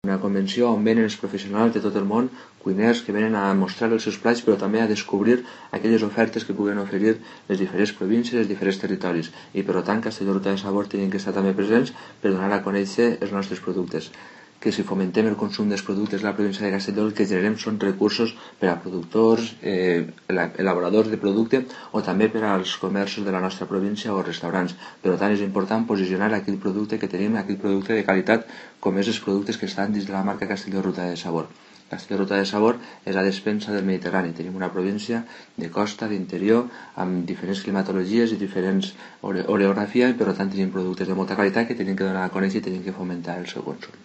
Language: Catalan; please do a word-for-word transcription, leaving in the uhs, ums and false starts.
Una convenció on venen els professionals de tot el món, cuiners que venen a mostrar els seus plats, però també a descobrir aquelles ofertes que puguen oferir les diferents províncies, els diferents territoris. I per tant, Castelló Ruta de Sabor tenen que estar també presents per donar a conèixer els nostres productes. Que si fomentem el consum dels productes de la província de Castelló, el que generem són recursos per a productors, eh, elaboradors de producte o també per als comerços de la nostra província o restaurants. Per tant, és important posicionar aquell producte que tenim, aquell producte de qualitat, com és els productes que estan dins de la marca Castelló Ruta de Sabor. Castelló Ruta de Sabor és la despensa del Mediterrani. Tenim una província de costa, d'interior, amb diferents climatologies i diferents ore orografia, i per tant tenim productes de molta qualitat que tenim que donar a conèixer i tenim que fomentar el seu consum.